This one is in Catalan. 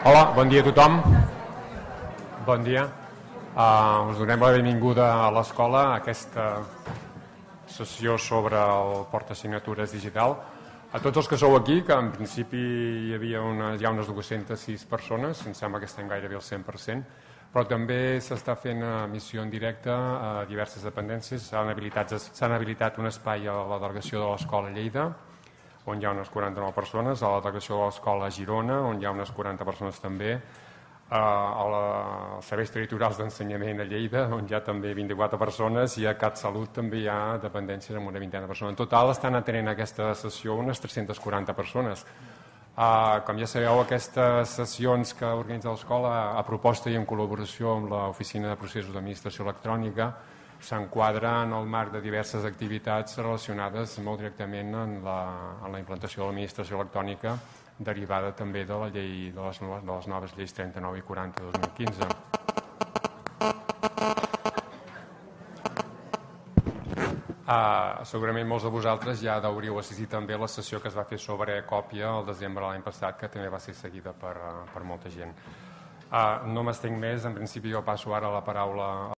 Hola, bon dia a tothom. Bon dia. Us donem la benvinguda a l'escola a aquesta sessió sobre el portasignatures digital. A tots els que sou aquí, que en principi hi havia ja unes 206 persones, em sembla que estem gairebé al 100%, però també s'està fent emissió en directe a diverses dependències. S'han habilitat un espai a la delegació de l'escola Lleida, on hi ha unes 49 persones, a la delegació de l'escola Girona, on hi ha unes 40 persones també, als serveis territorials d'ensenyament a Lleida, on hi ha també 24 persones, i a CatSalut també hi ha dependències amb una vintena de persones. En total estan atenent aquesta sessió unes 340 persones. Com ja sabeu, aquestes sessions que organitza l'escola a proposta i en col·laboració amb l'Oficina de Processos d'Administració Electrònica s'enquadra en el marc de diverses activitats relacionades molt directament en la implantació de l'administració electrònica derivada també de la llei de les noves lleis 39 i 40 de 2015. Segurament molts de vosaltres ja hauríeu assistit també a la sessió que es va fer sobre còpia el desembre de l'any passat, que també va ser seguida per molta gent. No m'estenc més, en principi jo passo ara la paraula